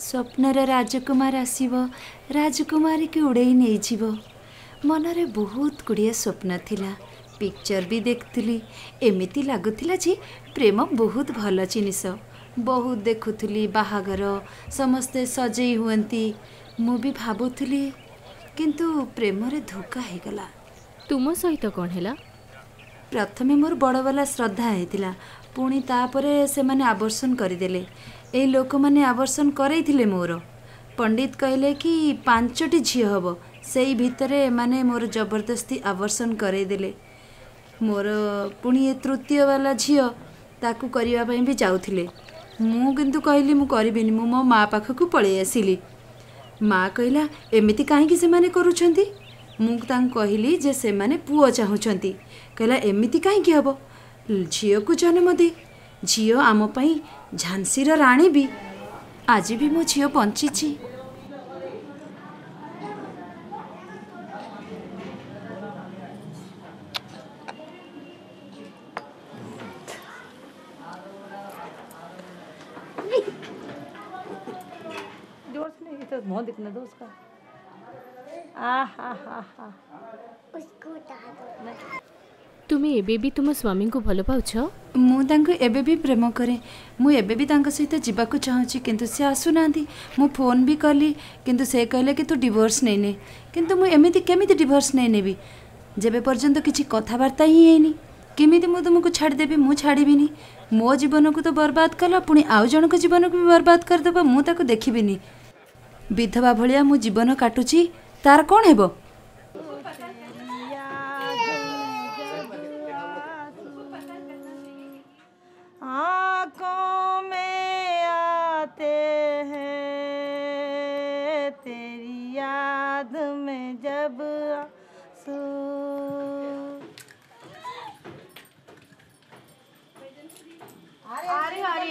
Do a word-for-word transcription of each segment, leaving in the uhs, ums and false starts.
ସ୍ୱପ୍ନର ରାଜକୁମାର ଆସିବ, ରାଜକୁମାରୀକି ଉଡ଼େଇ ନେଇଯିବ। ମନରେ ବହୁତ ଗୁଡ଼ିଏ ସ୍ୱପ୍ନ ଥିଲା। ପିକ୍ଚର ବି ଦେଖୁଥିଲି, ଏମିତି ଲାଗୁଥିଲା ଯେ ପ୍ରେମ ବହୁତ ଭଲ ଜିନିଷ। ବହୁତ ଦେଖୁଥିଲି ବାହାଘର, ସମସ୍ତେ ସଜେଇ ହୁଅନ୍ତି। ମୁଁ ବି ଭାବୁଥିଲି, କିନ୍ତୁ ପ୍ରେମରେ ଧୋକା ହେଇଗଲା। ତୁମ ସହିତ କ'ଣ ହେଲା? ପ୍ରଥମେ ମୋର ବଡ଼ବାଲା ଶ୍ରଦ୍ଧା ହେଇଥିଲା, ପୁଣି ତାପରେ ସେମାନେ ଆବର୍ଷନ କରିଦେଲେ। ଏଇ ଲୋକମାନେ ଆବର୍ଷନ କରେଇଥିଲେ ମୋର। ପଣ୍ଡିତ କହିଲେ କି ପାଞ୍ଚଟି ଝିଅ ହେବ, ସେଇ ଭିତରେ ଏମାନେ ମୋର ଜବରଦସ୍ତି ଆବର୍ଷନ କରେଇଦେଲେ। ମୋର ପୁଣି ଏ ତୃତୀୟ ବାଲା ଝିଅ, ତାକୁ କରିବା ପାଇଁ ବି ଯାଉଥିଲେ। ମୁଁ କିନ୍ତୁ କହିଲି ମୁଁ କରିବିନି। ମୁଁ ମୋ ମା ପାଖକୁ ପଳେଇ ଆସିଲି। ମା କହିଲା ଏମିତି କାହିଁକି ସେମାନେ କରୁଛନ୍ତି? ମୁଁ ତାଙ୍କୁ କହିଲି ଯେ ସେମାନେ ପୁଅ ଚାହୁଁଛନ୍ତି। କହିଲା ଏମିତି କାହିଁକି ହେବ, ଝିଅକୁ ଜନ୍ମ ଦେ, ଝିଅ ଆମ ପାଇଁ ଝାନ୍ସୀର ରାଣୀ ବି। ଆଜି ବି ମୋ ଝିଅ ବଞ୍ଚିଛି। जोर से नहीं तो मुंह दिखने दो उसका। आ हा हा हा। उसको उठा दो। ତୁମେ ଏବେ ବି ତୁମ ସ୍ୱାମୀଙ୍କୁ ଭଲ ପାଉଛ? ମୁଁ ତାଙ୍କୁ ଏବେ ବି ପ୍ରେମ କରେ। ମୁଁ ଏବେ ବି ତାଙ୍କ ସହିତ ଯିବାକୁ ଚାହୁଁଛି, କିନ୍ତୁ ସେ ଆସୁନାହାନ୍ତି। ମୁଁ ଫୋନ୍ ବି କଲି, କିନ୍ତୁ ସେ କହିଲେ କି ତୁ ଡିଭୋର୍ସ ନେଇନେ। କିନ୍ତୁ ମୁଁ ଏମିତି କେମିତି ଡିଭୋର୍ସ ନେଇନେବି, ଯେବେ ପର୍ଯ୍ୟନ୍ତ କିଛି କଥାବାର୍ତ୍ତା ହିଁ ହେଇନି? କେମିତି ମୁଁ ତୁମକୁ ଛାଡ଼ିଦେବି? ମୁଁ ଛାଡ଼ିବିନି। ମୋ ଜୀବନକୁ ତ ବର୍ବାଦ କଲ, ପୁଣି ଆଉ ଜଣଙ୍କ ଜୀବନକୁ ବି ବର୍ବାଦ କରିଦେବ? ମୁଁ ତାକୁ ଦେଖିବିନି। ବିଧବା ଭଳିଆ ମୁଁ ଜୀବନ କାଟୁଛି, ତାର କ'ଣ ହେବ? आंखों में आते हैं तेरी याद में जब आंसू। अरे अरे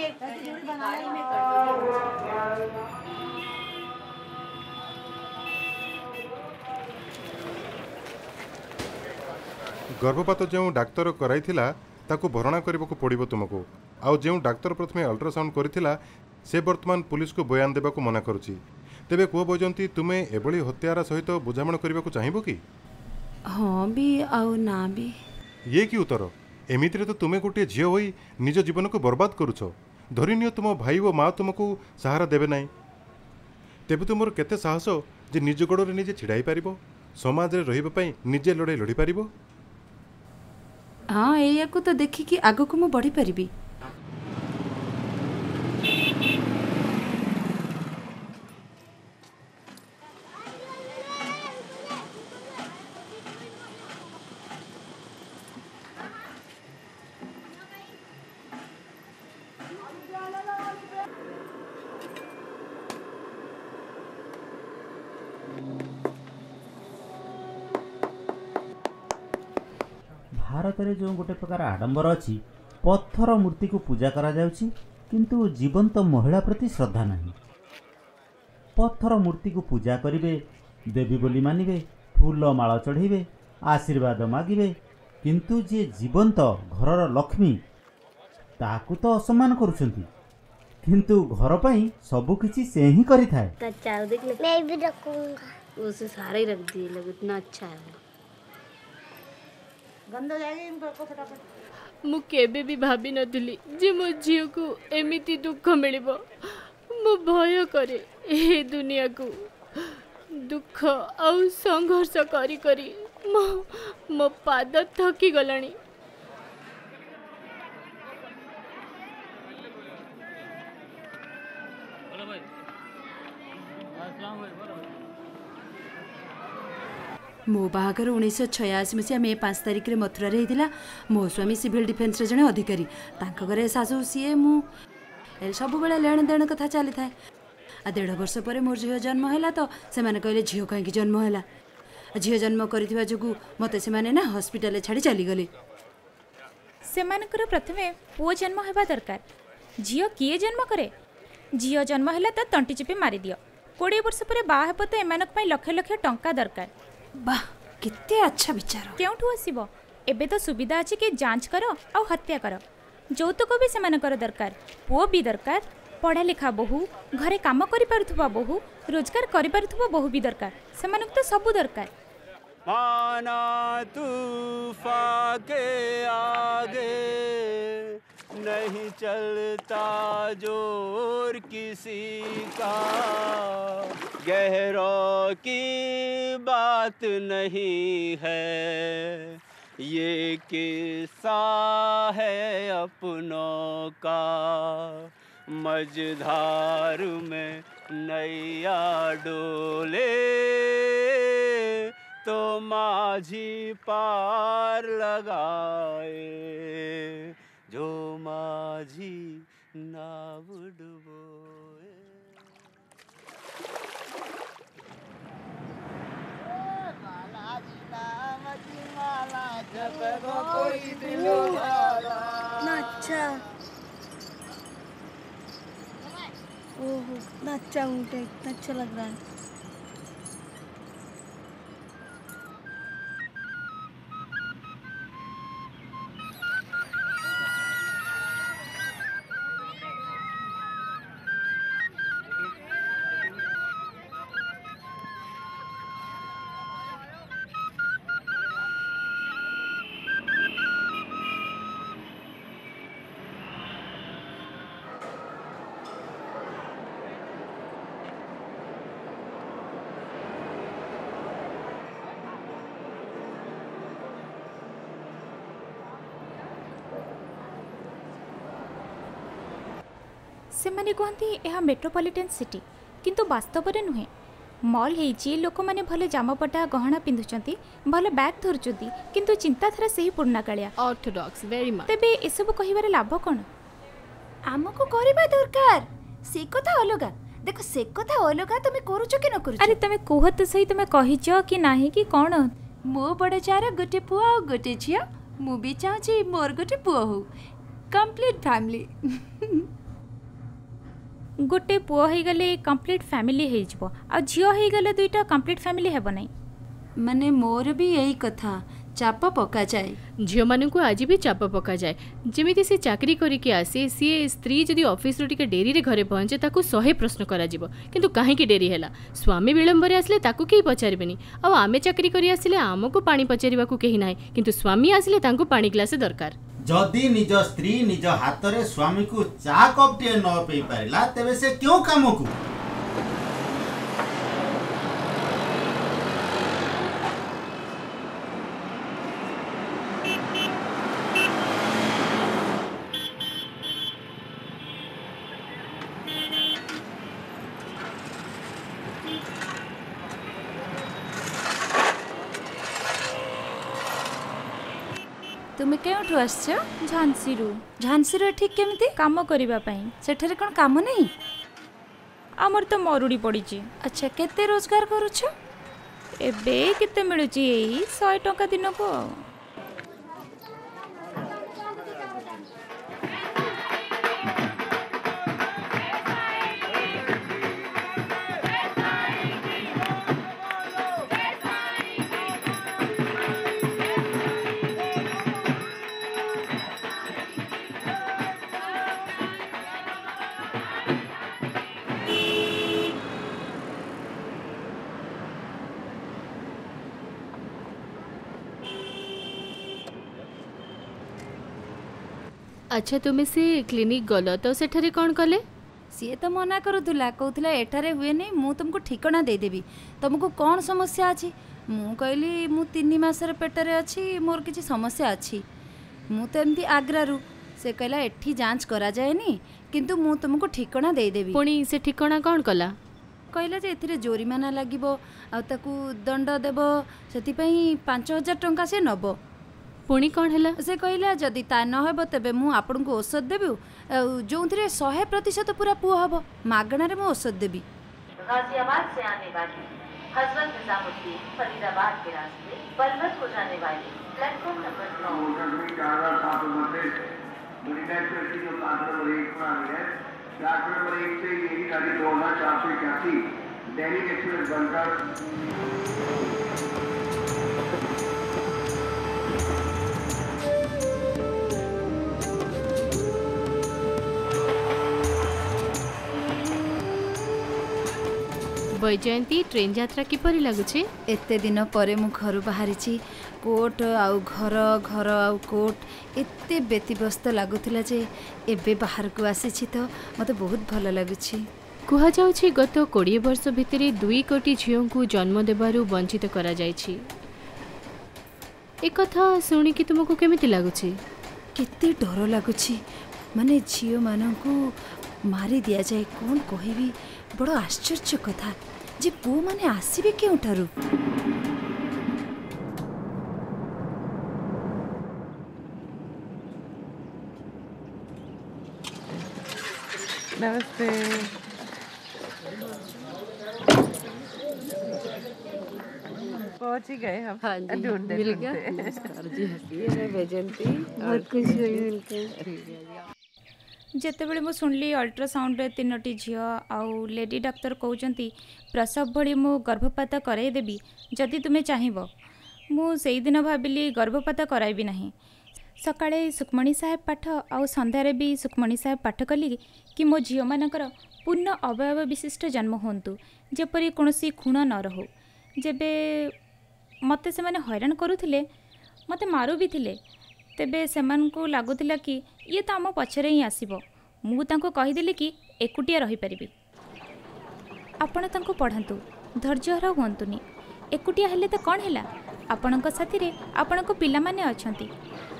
ଗର୍ଭପାତ ଯେଉଁ ଡାକ୍ତର କରାଇଥିଲା ତାକୁ ଭରଣା କରିବାକୁ ପଡ଼ିବ ତୁମକୁ। ଆଉ ଯେଉଁ ଡାକ୍ତର ପ୍ରଥମେ ଅଲ୍ଟ୍ରାସାଉଣ୍ଡ କରିଥିଲା ସେ ବର୍ତ୍ତମାନ ପୁଲିସକୁ ବୟାନ ଦେବାକୁ ମନା କରୁଛି। ତେବେ କୁହ ବୈଜୟନ୍ତୀ, ତୁମେ ଏଭଳି ହତ୍ୟାରା ସହିତ ବୁଝାମଣା କରିବାକୁ ଚାହିଁବ କି? ହଁ ବି ଆଉ ନା ବି। ଇଏ କି ଉତ୍ତର? ଏମିତିରେ ତ ତୁମେ ଗୋଟିଏ ଝିଅ ହୋଇ ନିଜ ଜୀବନକୁ ବର୍ବାଦ କରୁଛ। ଧରିନିଅ ତୁମ ଭାଇ ଓ ମା ତୁମକୁ ସାହାରା ଦେବେ ନାହିଁ, ତେବେ ତୁମର କେତେ ସାହସ ଯେ ନିଜ ଗୋଡ଼ରେ ନିଜେ ଛିଡ଼ା ହେଇପାରିବ, ସମାଜରେ ରହିବା ପାଇଁ ନିଜେ ଲଢ଼େଇ ଲଢ଼ିପାରିବ? ହଁ, ଏଇଆକୁ ତ ଦେଖିକି ଆଗକୁ ମୁଁ ବଢ଼ିପାରିବି। ଭାରତରେ ଯେଉଁ ଗୋଟେ ପ୍ରକାର ଆଡ଼ମ୍ବର ଅଛି, ପଥର ମୂର୍ତ୍ତିକୁ ପୂଜା କରାଯାଉଛି, କିନ୍ତୁ ଜୀବନ୍ତ ମହିଳା ପ୍ରତି ଶ୍ରଦ୍ଧା ନାହିଁ। ପଥର ମୂର୍ତ୍ତିକୁ ପୂଜା କରିବେ, ଦେବୀ ବୋଲି ମାନିବେ, ଫୁଲ ମାଳ ଚଢ଼େଇବେ, ଆଶୀର୍ବାଦ ମାଗିବେ, କିନ୍ତୁ ଯିଏ ଜୀବନ୍ତ ଘରର ଲକ୍ଷ୍ମୀ ତାକୁ ତ ଅସମ୍ମାନ କରୁଛନ୍ତି। କିନ୍ତୁ ଘର ପାଇଁ ସବୁକିଛି ସେ ହିଁ କରିଥାଏ। मैं भी रखूंगा। उसे सारे ही रख दिए लोग, इतना अच्छा है वो। गंदा जाएगा इनको फटाफट। ମୁଁ କେବେ ବି ଭାବିନଥିଲି ଯେ ମୋ ଝିଅକୁ ଏମିତି ଦୁଃଖ ମିଳିବ। ମୁଁ ଭୟ କରେ ଏ ଦୁନିଆକୁ। ଦୁଃଖ ଆଉ ସଂଘର୍ଷ କରି କରି ମୋ ମୋ ପାଦ ଥକିଗଲାଣି। ମୋ ବାହାଘର ଉଣେଇଶହ ଛୟାଅଶୀ ମସିହା ମେ ପାଞ୍ଚ ତାରିଖରେ ମଥୁରାରେ ହେଇଥିଲା। ମୋ ସ୍ୱାମୀ ସିଭିଲ୍ ଡିଫେନ୍ସର ଜଣେ ଅଧିକାରୀ। ତାଙ୍କ ଘରେ ଶାଶୁ, ସିଏ, ମୁଁ, ଏ ସବୁବେଳେ ଲେଣ ଦେଣ କଥା ଚାଲିଥାଏ। ଆଉ ଦେଢ଼ ବର୍ଷ ପରେ ମୋର ଝିଅ ଜନ୍ମ ହେଲା ତ ସେମାନେ କହିଲେ ଝିଅ କାହିଁକି ଜନ୍ମ ହେଲା? ଝିଅ ଜନ୍ମ କରିଥିବା ଯୋଗୁଁ ମୋତେ ସେମାନେ ନା ହସ୍ପିଟାଲରେ ଛାଡ଼ି ଚାଲିଗଲେ। ସେମାନଙ୍କର ପ୍ରଥମେ ପୁଅ ଜନ୍ମ ହେବା ଦରକାର। ଝିଅ କିଏ ଜନ୍ମ କରେ? ଝିଅ ଜନ୍ମ ହେଲା ତ ତଣ୍ଟି ଚିପି ମାରିଦିଅ। କୋଡ଼ିଏ ବର୍ଷ ପରେ ବାହା ହେବ ତ ଏମାନଙ୍କ ପାଇଁ ଲକ୍ଷ ଲକ୍ଷ ଟଙ୍କା ଦରକାର। ବାহ, କେତେ ଆଚ୍ଛା ବିଚାର! କେଉଁଠୁ ଆସିବ? ଏବେ ତ ସୁବିଧା ଅଛି କି ଯାଞ୍ଚ କର ଆଉ ହତ୍ୟା କର। ଯୌତୁକ ବି ସେମାନଙ୍କର ଦରକାର, ପୁଅ ବି ଦରକାର। ପଢ଼ା ଲେଖା ବୋହୂ, ଘରେ କାମ କରିପାରୁଥିବା ବୋହୂ, ରୋଜଗାର କରିପାରୁଥିବା ବୋହୂ ବି ଦରକାର। ସେମାନଙ୍କୁ ତ ସବୁ ଦରକାର। माना तूफा के आगे नहीं चलता जोर किसी का, गहरों की बात नहीं है, ये किस्सा है अपनों का, मझधार में नैया डोले तो माझी पार लगाए, जो माझी नाव डुबोए। इतना अच्छा, ओहो इतना अच्छा ऊँट है, इतना अच्छा लग रहा है। ସେମାନେ କୁହନ୍ତି ଏହା ମେଟ୍ରୋପଲିଟାନ୍ ସିଟି, କିନ୍ତୁ ବାସ୍ତବରେ ନୁହେଁ। ମଲ୍ ହେଇଛି, ଲୋକମାନେ ଭଲ ଜାମାପଟା ଗହଣା ପିନ୍ଧୁଛନ୍ତି, ଭଲ ବ୍ୟାଗ୍ ଧରୁଛନ୍ତି, କିନ୍ତୁ ଚିନ୍ତାଧାରା ସେହି ପୁରୁଣା କାଳିଆ। Orthodox very much. ତେବେ ଏସବୁ କହିବାର ଲାଭ କ'ଣ? ଆମକୁ କରିବା ଦରକାର ସେ କଥା ଅଲଗା। ଦେଖ, ସେ କଥା ଅଲଗା, ତମେ କରୁଛ କି ନ କରୁଛ। ଆରେ ତମେ କୁହ ତ ସହି, ତମେ କହିଛ କି ନାହିଁ କି କ'ଣ? ମୋ ବଡ଼ ଯାର ଗୋଟେ ପୁଅ ଆଉ ଗୋଟେ ଝିଅ। ମୁଁ ବି ଚାହୁଁଛି ମୋର ଗୋଟେ ପୁଅ ହଉ, କମ୍ପ୍ଲିଟ୍ ଫ୍ୟାମିଲି। ଗୋଟେ ପୁଅ ହେଇଗଲେ କମ୍ପ୍ଲିଟ୍ ଫ୍ୟାମିଲି ହେଇଯିବ, ଆଉ ଝିଅ ହେଇଗଲେ ଦୁଇଟା କମ୍ପ୍ଲିଟ୍ ଫ୍ୟାମିଲି ହେବ ନାହିଁ। ମାନେ ମୋର ବି ଏଇ କଥା, ଚାପ ପକାଯାଏ। ଝିଅମାନଙ୍କୁ ଆଜି ବି ଚାପ ପକାଯାଏ। ଯେମିତି ସେ ଚାକିରି କରିକି ଆସେ, ସିଏ ସ୍ତ୍ରୀ ଯଦି ଅଫିସରୁ ଟିକେ ଡେରିରେ ଘରେ ପହଞ୍ଚେ ତାକୁ ଶହେ ପ୍ରଶ୍ନ କରାଯିବ, କିନ୍ତୁ କାହିଁକି ଡେରି ହେଲା? ସ୍ୱାମୀ ବିଳମ୍ବରେ ଆସିଲେ ତାକୁ କେହି ପଚାରିବେନି। ଆଉ ଆମେ ଚାକିରି କରି ଆସିଲେ ଆମକୁ ପାଣି ପଚାରିବାକୁ କେହି ନାହିଁ, କିନ୍ତୁ ସ୍ୱାମୀ ଆସିଲେ ତାଙ୍କୁ ପାଣି ଗ୍ଲାସେ ଦରକାର। ଯଦି ନିଜ ସ୍ତ୍ରୀ ନିଜ ହାତରେ ସ୍ୱାମୀକୁ ଚା କପ୍ଟିଏ ନ ପେଇ ପାରିଲା, ତେବେ ସେ କେଉଁ କାମକୁ? ତୁମେ କେଉଁଠୁ ଆସିଛ? ଝାନ୍ସିରୁ। ଝାନ୍ସିରୁ ଏଠି କେମିତି? କାମ କରିବା ପାଇଁ। ସେଠାରେ କ'ଣ କାମ ନାହିଁ? ଆମର ତ ମରୁଡ଼ି ପଡ଼ିଛି। ଆଚ୍ଛା, କେତେ ରୋଜଗାର କରୁଛ? ଏବେ କେତେ ମିଳୁଛି, ଏଇ ଶହେ ଟଙ୍କା ଦିନକୁ। ଆଉ ଆଚ୍ଛା, ତୁମେ ସେ କ୍ଲିନିକ୍ ଗଲ ତ ସେଠାରେ କ'ଣ କଲେ? ସିଏ ତ ମନା କରୁଥିଲା, କହୁଥିଲା ଏଠାରେ ହୁଏନି, ମୁଁ ତୁମକୁ ଠିକଣା ଦେଇଦେବି, ତୁମକୁ କ'ଣ ସମସ୍ୟା ଅଛି? ମୁଁ କହିଲି ମୁଁ ତିନି ମାସର ପେଟରେ ଅଛି, ମୋର କିଛି ସମସ୍ୟା ଅଛି, ମୁଁ ତ ଏମିତି ଆଗ୍ରାରୁ। ସେ କହିଲା ଏଠି ଯାଞ୍ଚ କରାଯାଏନି, କିନ୍ତୁ ମୁଁ ତୁମକୁ ଠିକଣା ଦେଇଦେବି। ପୁଣି ସେ ଠିକଣା କ'ଣ କଲା? କହିଲା ଯେ ଏଥିରେ ଜୋରିମାନା ଲାଗିବ ଆଉ ତାକୁ ଦଣ୍ଡ ଦେବ, ସେଥିପାଇଁ ପାଞ୍ଚ ହଜାର ଟଙ୍କା ସେ ନେବ। ପୁଣି କ'ଣ ହେଲା? ସେ କହିଲା ଯଦି ତା ନ ହେବ ତେବେ ମୁଁ ଆପଣଙ୍କୁ ଔଷଧ ଦେବି, ଆଉ ଯେଉଁଥିରେ ଶହେ ପ୍ରତିଶତ ପୁରା ପୁଅ ହେବ, ମାଗଣାରେ ମୁଁ ଔଷଧ ଦେବି। गाजियाबाद से आने वाली हजरत निजामुद्दीन फरीदाबाद के रास्ते पलवल को जाने वाली प्लेटफॉर्म नंबर नौ। प्लेटफॉर्म नंबर एक से यही गाड़ी दो हजार चार सौ इक्यासी दैनिक एक्सप्रेस बनकर ବୈଜୟନ୍ତୀ, ଟ୍ରେନ୍ ଯାତ୍ରା କିପରି ଲାଗୁଛି? ଏତେ ଦିନ ପରେ ମୁଁ ଘରୁ ବାହାରିଛି। କୋର୍ଟ ଆଉ ଘର, ଘର ଆଉ କୋର୍ଟ, ଏତେ ବ୍ୟତିବ୍ୟସ୍ତ ଲାଗୁଥିଲା ଯେ ଏବେ ବାହାରକୁ ଆସିଛି ତ ମୋତେ ବହୁତ ଭଲ ଲାଗୁଛି। କୁହାଯାଉଛି ଗତ କୋଡ଼ିଏ ବର୍ଷ ଭିତରେ ଦୁଇ କୋଟି ଝିଅଙ୍କୁ ଜନ୍ମ ଦେବାରୁ ବଞ୍ଚିତ କରାଯାଇଛି। ଏକଥା ଶୁଣିକି ତୁମକୁ କେମିତି ଲାଗୁଛି? କେତେ ଡର ଲାଗୁଛି, ମାନେ ଝିଅମାନଙ୍କୁ ମାରି ଦିଆଯାଏ। କ'ଣ କହିବି, ବଡ଼ ଆଶ୍ଚର୍ଯ୍ୟ କଥା ଯେ ପୁଅମାନେ ଆସିବେ କେଉଁଠାରୁ? नमस्ते। पहुंच ही गए हम। हाँ जी, ढूंढते मिल गया। ढूंढते। नमस्कार जी, हंसी है वैजयंती। बहुत खुशी हुई मिलकर। ଯେତେବେଳେ ମୁଁ ଶୁଣିଲି ଅଲ୍ଟ୍ରାସାଉଣ୍ଡରେ ତିନୋଟି ଝିଅ ଆଉ ଲେଡି ଡାକ୍ତର କହୁଛନ୍ତି ପ୍ରସବ ଭଳି ମୁଁ ଗର୍ଭପାତ କରାଇଦେବି ଯଦି ତୁମେ ଚାହିଁବ, ମୁଁ ସେଇଦିନ ଭାବିଲି ଗର୍ଭପାତ କରାଇବି ନାହିଁ। ସକାଳେ ସୁଖମଣି ସାହେବ ପାଠ ଆଉ ସନ୍ଧ୍ୟାରେ ବି ସୁଖମଣି ସାହେବ ପାଠ କଲି କି ମୋ ଝିଅମାନଙ୍କର ପୂର୍ଣ୍ଣ ଅବୟବ ବିଶିଷ୍ଟ ଜନ୍ମ ହୁଅନ୍ତୁ, ଯେପରି କୌଣସି ଖୁଣ ନ ରହୁ। ଯେବେ ମୋତେ ସେମାନେ ହଇରାଣ କରୁଥିଲେ, ମୋତେ ମାରୁ ବି ଥିଲେ, ତେବେ ସେମାନଙ୍କୁ ଲାଗୁଥିଲା କି ଇଏ ତ ଆମ ପଛରେ ହିଁ ଆସିବ। ମୁଁ ତାଙ୍କୁ କହିଦେଲି କି ଏକୁଟିଆ ରହିପାରିବି। ଆପଣ ତାଙ୍କୁ ପଢ଼ାନ୍ତୁ, ଧୈର୍ଯ୍ୟହରା ହୁଅନ୍ତୁନି। ଏକୁଟିଆ ହେଲେ ତ କ'ଣ ହେଲା, ଆପଣଙ୍କ ସାଥିରେ ଆପଣଙ୍କ ପିଲାମାନେ ଅଛନ୍ତି,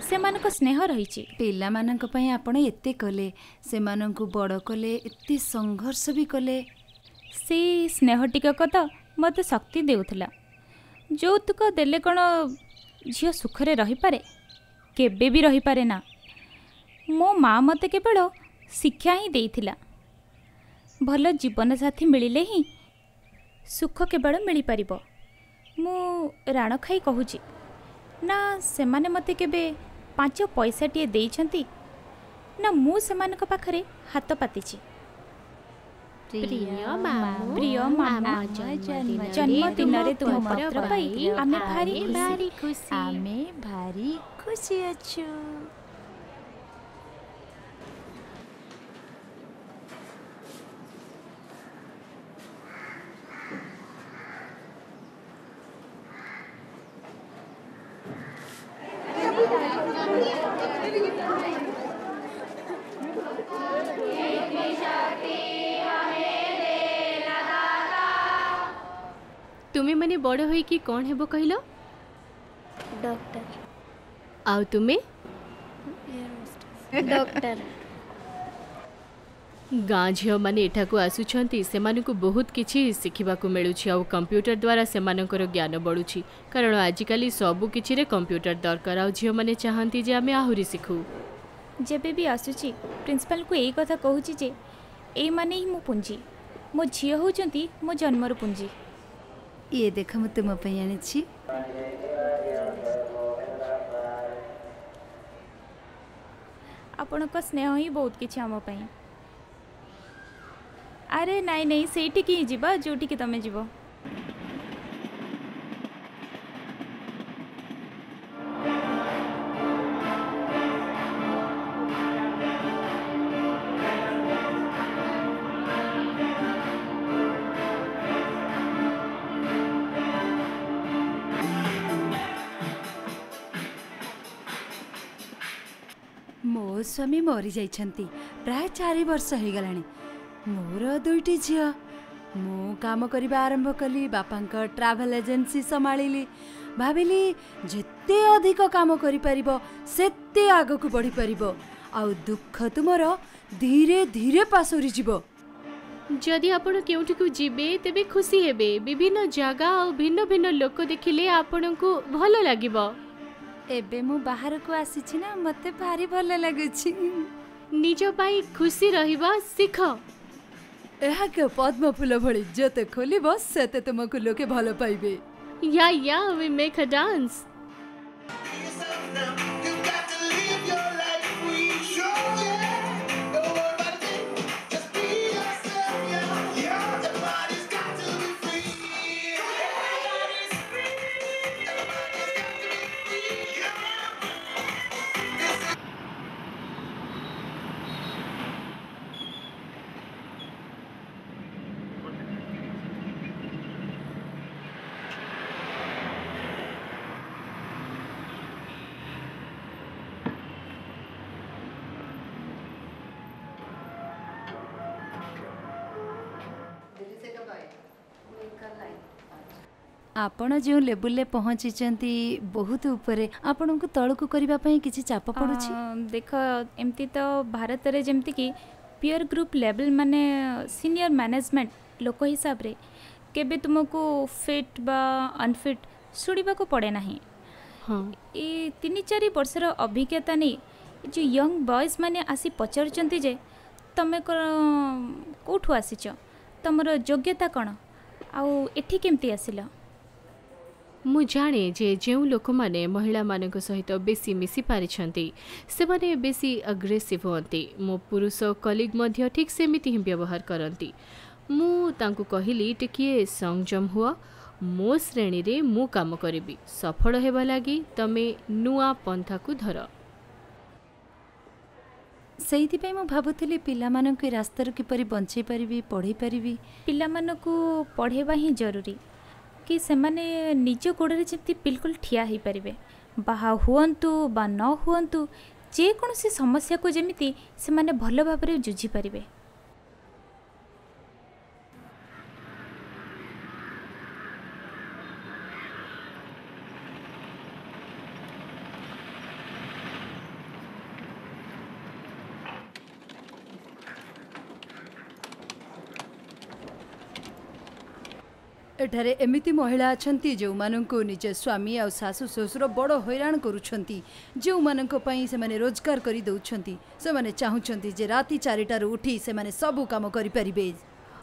ସେମାନଙ୍କ ସ୍ନେହ ରହିଛି। ପିଲାମାନଙ୍କ ପାଇଁ ଆପଣ ଏତେ କଲେ, ସେମାନଙ୍କୁ ବଡ଼ କଲେ, ଏତେ ସଂଘର୍ଷ ବି କଲେ। ସେଇ ସ୍ନେହ ଟିକକ ତ ମୋତେ ଶକ୍ତି ଦେଉଥିଲା। ଯୌତୁକ ଦେଲେ କ'ଣ ଝିଅ ସୁଖରେ ରହିପାରେ? କେବେ ବି ରହିପାରେ ନା। ମୋ ମା ମୋତେ କେବଳ ଶିକ୍ଷା ହିଁ ଦେଇଥିଲା। ଭଲ ଜୀବନସାଥୀ ମିଳିଲେ ହିଁ ସୁଖ କେବଳ ମିଳିପାରିବ। ମୁଁ ରାଣ ଖାଇ କହୁଛି ନା, ସେମାନେ ମୋତେ କେବେ ପାଞ୍ଚ ପଇସାଟିଏ ଦେଇଛନ୍ତି ନା ମୁଁ ସେମାନଙ୍କ ପାଖରେ ହାତ ପାତିଛି। ପ୍ରିୟ ମାମୁଁ, ପ୍ରିୟ ମାମୁଁ, ଜନ୍ମଦିନରେ ତୁମ ପତ୍ର ପାଇ ଆମେ ଭାରି ଭାରି ଖୁସି। ଆମେ ଭାରି ଖୁସି ଅଛୁ। ତୁମେମାନେ ବଡ଼ ହୋଇକି କ'ଣ ହେବ କହିଲ? ଡକ୍ଟର। ଆଉ ତୁମେ? ଡକ୍ଟର। ଗାଁ ଝିଅମାନେ ଏଠାକୁ ଆସୁଛନ୍ତି, ସେମାନଙ୍କୁ ବହୁତ କିଛି ଶିଖିବାକୁ ମିଳୁଛି ଆଉ କମ୍ପ୍ୟୁଟର ଦ୍ୱାରା ସେମାନଙ୍କର ଜ୍ଞାନ ବଢ଼ୁଛି, କାରଣ ଆଜିକାଲି ସବୁ କିଛିରେ କମ୍ପ୍ୟୁଟର ଦରକାର। ଆଉ ଝିଅମାନେ ଚାହାନ୍ତି ଯେ ଆମେ ଆହୁରି ଶିଖୁ। ଯେବେ ବି ଆସୁଛି ପ୍ରିନ୍ସିପାଲଙ୍କୁ ଏଇ କଥା କହୁଛି ଯେ ଏଇମାନେ ହିଁ ମୋ ପୁଞ୍ଜି, ମୋ ଝିଅ ହେଉଛନ୍ତି ମୋ ଜନ୍ମର ପୁଞ୍ଜି। ଇଏ ଦେଖ, ମୁଁ ତୁମ ପାଇଁ ଆଣିଛି। ଆପଣଙ୍କ ସ୍ନେହ ହିଁ ବହୁତ କିଛି ଆମ ପାଇଁ। ଆରେ ନାଇଁ ନାଇଁ, ସେଇଠିକି ହିଁ ଯିବା ଯେଉଁଠିକି ତମେ ଯିବ। ମୋ ସ୍ୱାମୀ ମରିଯାଇଛନ୍ତି ପ୍ରାୟ ଚାରି ବର୍ଷ ହେଇଗଲାଣି। ମୋର ଦୁଇଟି ଝିଅ। ମୁଁ କାମ କରିବା ଆରମ୍ଭ କଲି, ବାପାଙ୍କ ଟ୍ରାଭେଲ୍ ଏଜେନ୍ସି ସମ୍ଭାଳିଲି। ଭାବିଲି ଯେତେ ଅଧିକ କାମ କରିପାରିବ ସେତେ ଆଗକୁ ବଢ଼ିପାରିବ, ଆଉ ଦୁଃଖ ତୁମର ଧୀରେ ଧୀରେ ପାସୋରିଯିବ। ଯଦି ଆପଣ କେଉଁଠିକୁ ଯିବେ ତେବେ ଖୁସି ହେବେ। ବିଭିନ୍ନ ଜାଗା ଆଉ ଭିନ୍ନ ଭିନ୍ନ ଲୋକ ଦେଖିଲେ ଆପଣଙ୍କୁ ଭଲ ଲାଗିବ। ଏବେ ମୁଁ ବାହାରକୁ ଆସିଛି ନା, ମୋତେ ଭାରି ଭଲ ଲାଗୁଛି। ନିଜ ପାଇଁ ଖୁସି ରହିବା ଶିଖ। ଏହା ପଦ୍ମ ଫୁଲ ଭଳି, ଯେତେ ଖୋଲିବ ସେତେ ତୁମକୁ ଲୋକେ ଭଲ ପାଇବେ। Yeah yeah, we make a dance. ଆପଣ ଯେଉଁ ଲେବୁଲରେ ପହଞ୍ଚିଛନ୍ତି ବହୁତ ଉପରେ, ଆପଣଙ୍କୁ ତଳକୁ କରିବା ପାଇଁ କିଛି ଚାପ ପଡ଼ୁଛି? ଦେଖ, ଏମିତି ତ ଭାରତରେ ଯେମିତିକି ପିୟର ଗ୍ରୁପ୍ ଲେବଲ୍ ମାନେ ସିନିୟର ମ୍ୟାନେଜମେଣ୍ଟ ଲୋକ ହିସାବରେ କେବେ ତୁମକୁ ଫିଟ୍ ବା ଅନଫିଟ୍ ଶୁଣିବାକୁ ପଡ଼େ ନାହିଁ। ହଁ, ଏ ତିନି ଚାରି ବର୍ଷର ଅଭିଜ୍ଞତା ନେଇ ଯେଉଁ ୟଙ୍ଗ ବଏଜ୍ ମାନେ ଆସି ପଚାରୁଛନ୍ତି ଯେ ତମେ କେଉଁଠୁ ଆସିଛ, ତମର ଯୋଗ୍ୟତା କ'ଣ, ଆଉ ଏଠି କେମିତି ଆସିଲ। ମୁଁ ଜାଣେ ଯେ ଯେଉଁ ଲୋକମାନେ ମହିଳାମାନଙ୍କ ସହିତ ବେଶୀ ମିଶି ପାରିଛନ୍ତି ସେମାନେ ବେଶୀ ଆଗ୍ରେସିଭ୍ ହୁଅନ୍ତି। ମୋ ପୁରୁଷ କଲିଗ୍ ମଧ୍ୟ ଠିକ୍ ସେମିତି ହିଁ ବ୍ୟବହାର କରନ୍ତି। ମୁଁ ତାଙ୍କୁ କହିଲି, ଟିକିଏ ସଂଯମ ହୁଅ, ମୋ ଶ୍ରେଣୀରେ ମୁଁ କାମ କରିବି, ସଫଳ ହେବା ଲାଗି ତମେ ନୂଆ ପନ୍ଥାକୁ ଧର। ସେଇଥିପାଇଁ ମୁଁ ଭାବୁଥିଲି ପିଲାମାନଙ୍କୁ ଏ ରାସ୍ତାରୁ କିପରି ବଞ୍ଚେଇ ପାରିବି, ପଢ଼େଇ ପାରିବି। ପିଲାମାନଙ୍କୁ ପଢ଼େଇବା ହିଁ ଜରୁରୀ କି ସେମାନେ ନିଜ ଗୋଡ଼ରେ ଯେମିତି ବିଲକୁଲ ଠିଆ ହେଇପାରିବେ, ବାହା ହୁଅନ୍ତୁ ବା ନ ହୁଅନ୍ତୁ, ଯେକୌଣସି ସମସ୍ୟାକୁ ଯେମିତି ସେମାନେ ଭଲ ଭାବରେ ଯୁଝିପାରିବେ। ଏଠାରେ ଏମିତି ମହିଳା ଅଛନ୍ତି ଯେଉଁମାନଙ୍କୁ ନିଜ ସ୍ୱାମୀ ଆଉ ଶାଶୁ ଶ୍ୱଶୁର ବଡ଼ ହଇରାଣ କରୁଛନ୍ତି, ଯେଉଁମାନଙ୍କ ପାଇଁ ସେମାନେ ରୋଜଗାର କରି ଦେଉଛନ୍ତି। ସେମାନେ ଚାହୁଁଛନ୍ତି ଯେ ରାତି ଚାରିଟାରୁ ଉଠି ସେମାନେ ସବୁ କାମ କରିପାରିବେ।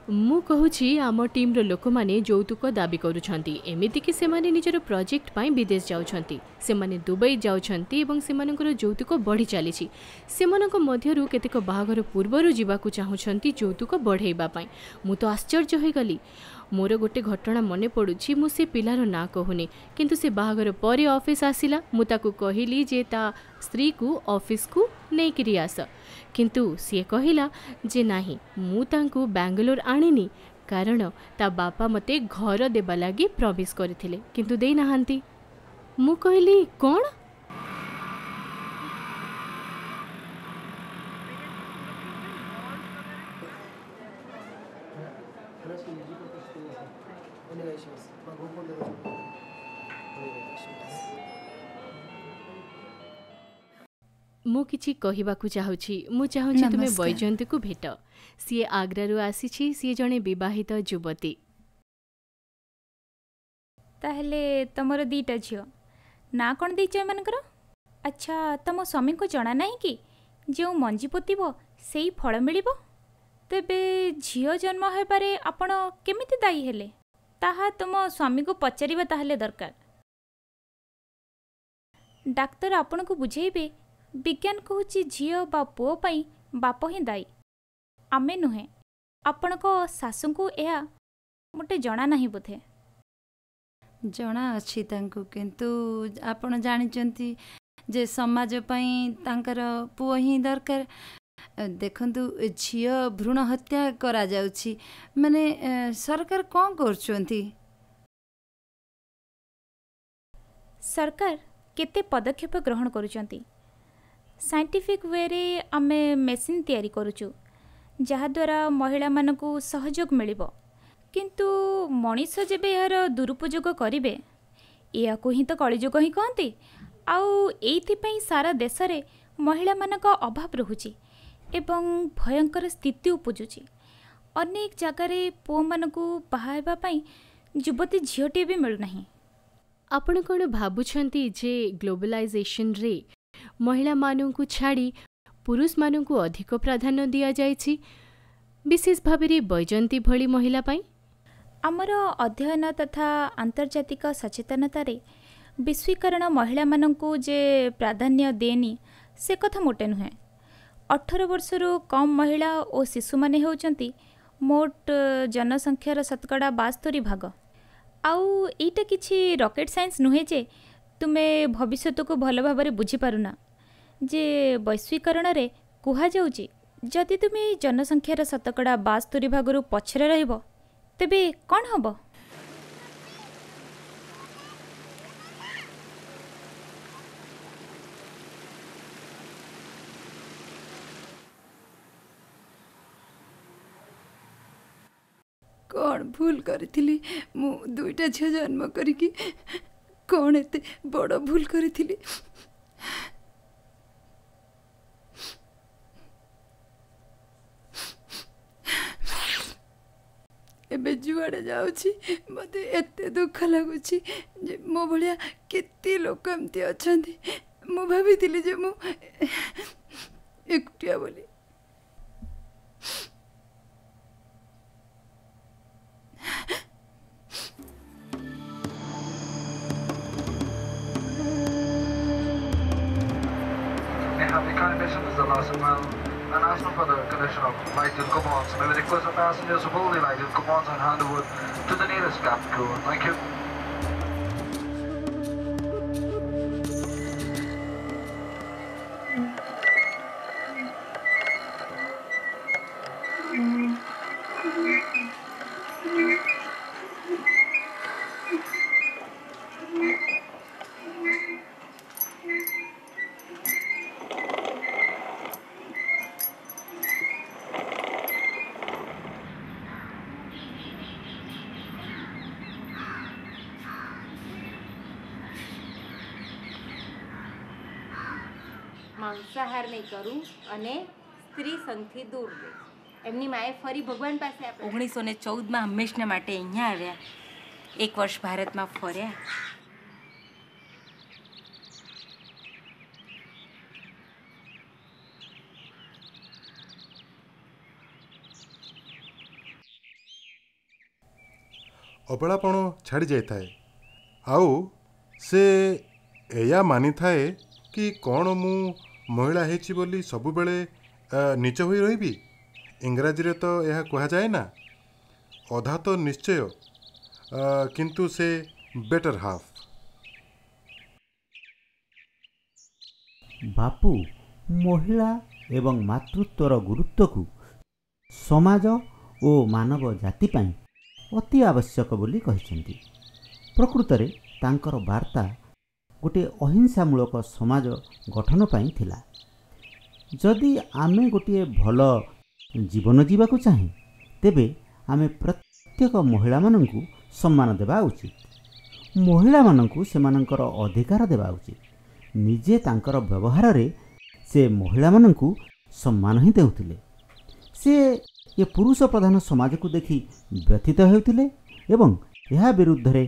ମୁଁ କହୁଛି, ଆମ ଟିମ୍ର ଲୋକମାନେ ଯୌତୁକ ଦାବି କରୁଛନ୍ତି, ଏମିତିକି ସେମାନେ ନିଜର ପ୍ରୋଜେକ୍ଟ ପାଇଁ ବିଦେଶ ଯାଉଛନ୍ତି, ସେମାନେ ଦୁବାଇ ଯାଉଛନ୍ତି ଏବଂ ସେମାନଙ୍କର ଯୌତୁକ ବଢ଼ି ଚାଲିଛି। ସେମାନଙ୍କ ମଧ୍ୟରୁ କେତେକ ବାହାଘର ପୂର୍ବରୁ ଯିବାକୁ ଚାହୁଁଛନ୍ତି ଯୌତୁକ ବଢ଼େଇବା ପାଇଁ। ମୁଁ ତ ଆଶ୍ଚର୍ଯ୍ୟ ହୋଇଗଲି। ମୋର ଗୋଟେ ଘଟଣା ମନେ ପଡ଼ୁଛି, ମୁଁ ସେ ପିଲାର ନାଁ କହୁନି, କିନ୍ତୁ ସେ ବାହାଘର ପରେ ଅଫିସ୍ ଆସିଲା। ମୁଁ ତାକୁ କହିଲି ଯେ ତା ସ୍ତ୍ରୀକୁ ଅଫିସକୁ ନେଇକିରି ଆସ, କିନ୍ତୁ ସିଏ କହିଲା ଯେ ନାହିଁ, ମୁଁ ତାଙ୍କୁ ବାଙ୍ଗାଲୋର ଆଣିନି, କାରଣ ତା ବାପା ମୋତେ ଘର ଦେବା ଲାଗି ପ୍ରମିସ୍ କରିଥିଲେ କିନ୍ତୁ ଦେଇନାହାନ୍ତି। ମୁଁ କହିଲି, କ'ଣ? ମୁଁ କିଛି କହିବାକୁ ଚାହୁଁଛି। ମୁଁ ଚାହୁଁଛି ତୁମେ ନମସ୍କାର। ବୈଜୟନ୍ତୀକୁ ଭେଟ। ସିଏ ଆଗ୍ରାରୁ ଆସିଛି। ସିଏ ଜଣେ ବିବାହିତ ଯୁବତୀ। ତାହେଲେ ତମର ଦୁଇଟା ଝିଅ, ନାଁ କ'ଣ ଦେଇଛ ଏମାନଙ୍କର? ଆଚ୍ଛା, ତମ ସ୍ୱାମୀଙ୍କୁ ଜଣା ନାହିଁ କି ଯେଉଁ ମଞ୍ଜି ପୋତିବ ସେଇ ଫଳ ମିଳିବ? ତେବେ ଝିଅ ଜନ୍ମ ହେବାରେ ଆପଣ କେମିତି ଦାୟୀ ହେଲେ, ତାହା ତୁମ ସ୍ୱାମୀଙ୍କୁ ପଚାରିବା ତାହେଲେ ଦରକାର। ଡାକ୍ତର ଆପଣଙ୍କୁ ବୁଝେଇବେ, ବିଜ୍ଞାନ କହୁଛି ଝିଅ ବା ପୁଅ ପାଇଁ ବାପ ହିଁ ଦାୟୀ, ଆମେ ନୁହେଁ। ଆପଣଙ୍କ ଶାଶୁଙ୍କୁ ଏହା ମୋଟେ ଜଣା ନାହିଁ ବୋଧେ। ଜଣା ଅଛି ତାଙ୍କୁ, କିନ୍ତୁ ଆପଣ ଜାଣିଛନ୍ତି ଯେ ସମାଜ ପାଇଁ ତାଙ୍କର ପୁଅ ହିଁ ଦରକାର। ଦେଖନ୍ତୁ, ଝିଅ ଭ୍ରୂଣ ହତ୍ୟା କରାଯାଉଛି, ମାନେ ଏ, ସରକାର କ'ଣ କରୁଛନ୍ତି? ସରକାର କେତେ ପଦକ୍ଷେପ ଗ୍ରହଣ କରୁଛନ୍ତି। ସାଇଣ୍ଟିଫିକ୍ ୱେରେ ଆମେ ମେସିନ୍ ତିଆରି କରୁଛୁ ଯାହାଦ୍ୱାରା ମହିଳାମାନଙ୍କୁ ସହଯୋଗ ମିଳିବ, କିନ୍ତୁ ମଣିଷ ଯେବେ ଏହାର ଦୁରୁପଯୋଗ କରିବେ, ଏହାକୁ ହିଁ ତ କଳିଯୁଗ ହିଁ କହନ୍ତି। ଆଉ ଏଇଥିପାଇଁ ସାରା ଦେଶରେ ମହିଳାମାନଙ୍କ ଅଭାବ ରହୁଛି ଏବଂ ଭୟଙ୍କର ସ୍ଥିତି ଉପୁଜୁଛି। ଅନେକ ଜାଗାରେ ପୁଅମାନଙ୍କୁ ବାହା ହେବା ପାଇଁ ଯୁବତୀ ଝିଅଟିଏ ବି ମିଳୁନାହିଁ। ଆପଣ କ'ଣ ଭାବୁଛନ୍ତି ଯେ ଗ୍ଲୋବାଲାଇଜେସନରେ ମହିଳାମାନଙ୍କୁ ଛାଡ଼ି ପୁରୁଷମାନଙ୍କୁ ଅଧିକ ପ୍ରାଧାନ୍ୟ ଦିଆଯାଇଛି, ବିଶେଷ ଭାବରେ ବୈଜୟନ୍ତୀ ଭଳି ମହିଳା ପାଇଁ? ଆମର ଅଧ୍ୟୟନ ତଥା ଆନ୍ତର୍ଜାତିକ ସଚେତନତାରେ ବିଶ୍ୱୀକରଣ ମହିଳାମାନଙ୍କୁ ଯେ ପ୍ରାଧାନ୍ୟ ଦିଏନି ସେ କଥା ମୋଟେ ନୁହେଁ। ଅଠର ବର୍ଷରୁ କମ୍ ମହିଳା ଓ ଶିଶୁମାନେ ହେଉଛନ୍ତି ମୋଟ ଜନସଂଖ୍ୟାର ଶତକଡ଼ା ବାସ୍ତରି ଭାଗ। ଆଉ ଏଇଟା କିଛି ରକେଟ୍ ସାଇନ୍ସ ନୁହେଁ ଯେ ତୁମେ ଭବିଷ୍ୟତକୁ ଭଲ ଭାବରେ ବୁଝିପାରୁନା ଯେ ବୈଶ୍ୱୀକରଣରେ କୁହାଯାଉଛି ଯଦି ତୁମେ ଏଇ ଜନସଂଖ୍ୟାର ଶତକଡ଼ା ବାସ୍ତରି ଭାଗରୁ ପଛରେ ରହିବ ତେବେ କ'ଣ ହେବ? କ'ଣ ଭୁଲ କରିଥିଲି ମୁଁ? ଦୁଇଟା ଝିଅ ଜନ୍ମ କରିକି କ'ଣ ଏତେ ବଡ଼ ଭୁଲ କରିଥିଲି? ଏବେ ଯୁଆଡ଼େ ଯାଉଛି ମୋତେ ଏତେ ଦୁଃଖ ଲାଗୁଛି ଯେ ମୋ ଭଳିଆ କେତେ ଲୋକ ଏମିତି ଅଛନ୍ତି। ମୁଁ ଭାବିଥିଲି ଯେ ମୁଁ ଏକୁଟିଆ ବୋଲି। May have the kind mention is the last mile announcement for the collection of lighted coupons. May we request the passengers to pull the lighted coupons and hand over to the nearest cabin crew. Thank you. માંસાહાર નહીં કરું અને સ્ત્રી સંગથી દૂર રહીશ. એમની માએ ફરી ભગવાન પાસે ઓગણીસો ને ચૌદમાં હંમેશના માટે અહીંયા આવ્યા. એક વર્ષ ભારતમાં ફર્યા. ଅବଳାପଣ ଛାଡ଼ି ଯାଇଥାଏ ଆଉ ସେ ଏଇଆ ମାନିଥାଏ କି କ'ଣ ମୁଁ ମହିଳା ହେଇଛି ବୋଲି ସବୁବେଳେ ନୀଚ ହୋଇ ରହିବି? ଇଂରାଜୀରେ ତ ଏହା କୁହାଯାଏ ନା, ଅଧା ତ ନିଶ୍ଚୟ, କିନ୍ତୁ ସେ ବେଟର୍ ହାଫ୍। ବାପୁ ମହିଳା ଏବଂ ମାତୃତ୍ୱର ଗୁରୁତ୍ୱକୁ ସମାଜ ଓ ମାନବ ଜାତି ପାଇଁ ଅତି ଆବଶ୍ୟକ ବୋଲି କହିଛନ୍ତି। ପ୍ରକୃତରେ ତାଙ୍କର ବାର୍ତ୍ତା ଗୋଟିଏ ଅହିଂସାମୂଳକ ସମାଜ ଗଠନ ପାଇଁ ଥିଲା। ଯଦି ଆମେ ଗୋଟିଏ ଭଲ ଜୀବନ ଯିବାକୁ ଚାହେଁ, ତେବେ ଆମେ ପ୍ରତ୍ୟେକ ମହିଳାମାନଙ୍କୁ ସମ୍ମାନ ଦେବା ଉଚିତ। ମହିଳାମାନଙ୍କୁ ସେମାନଙ୍କର ଅଧିକାର ଦେବା ଉଚିତ। ନିଜେ ତାଙ୍କର ବ୍ୟବହାରରେ ସେ ମହିଳାମାନଙ୍କୁ ସମ୍ମାନ ହିଁ ଦେଉଥିଲେ। ସେ ଏ ପୁରୁଷ ପ୍ରଧାନ ସମାଜକୁ ଦେଖି ବ୍ୟଥିତ ହେଉଥିଲେ ଏବଂ ଏହା ବିରୁଦ୍ଧରେ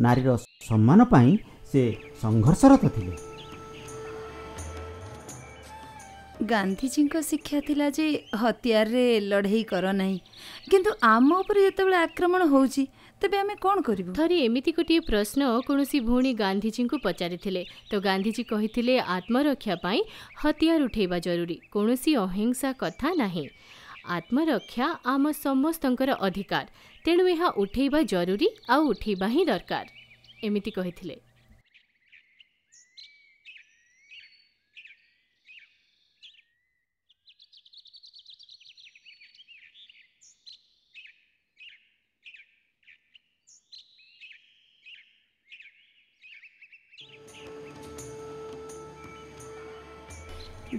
ନାରୀର ସମ୍ମାନ ପାଇଁ ସେ ସଂଘର୍ଷରତ ଥିଲେ। ଗାନ୍ଧିଜୀଙ୍କ ଶିକ୍ଷା ଥିଲା ଯେ ହତିଆରରେ ଲଢ଼େଇ କର ନାହିଁ, କିନ୍ତୁ ଆମ ଉପରେ ଯେତେବେଳେ ଆକ୍ରମଣ ହେଉଛି ତେବେ ଆମେ କ'ଣ କରିବୁ? ଥରେ ଏମିତି ଗୋଟିଏ ପ୍ରଶ୍ନ କୌଣସି ଭଉଣୀ ଗାନ୍ଧିଜୀଙ୍କୁ ପଚାରିଥିଲେ ତ ଗାନ୍ଧିଜୀ କହିଥିଲେ ଆତ୍ମରକ୍ଷା ପାଇଁ ହତିଆର ଉଠେଇବା ଜରୁରୀ, କୌଣସି ଅହିଂସା କଥା ନାହିଁ। ଆତ୍ମରକ୍ଷା ଆମ ସମସ୍ତଙ୍କର ଅଧିକାର, ତେଣୁ ଏହା ଉଠେଇବା ଜରୁରୀ ଆଉ ଉଠେଇବା ହିଁ ଦରକାର, ଏମିତି କହିଥିଲେ।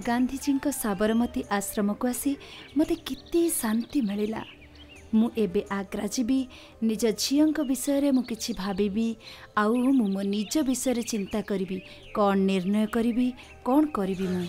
ଗାନ୍ଧିଜୀଙ୍କ ସାବରମତୀ ଆଶ୍ରମକୁ ଆସି ମୋତେ କେତେ ଶାନ୍ତି ମିଳିଲା। ମୁଁ ଏବେ ଆଗ୍ରା ଯିବି, ନିଜ ଝିଅଙ୍କ ବିଷୟରେ ମୁଁ କିଛି ଭାବିବି ଆଉ ମୁଁ ମୋ ନିଜ ବିଷୟରେ ଚିନ୍ତା କରିବି, କ'ଣ ନିର୍ଣ୍ଣୟ କରିବି, କ'ଣ କରିବି ମୁଁ।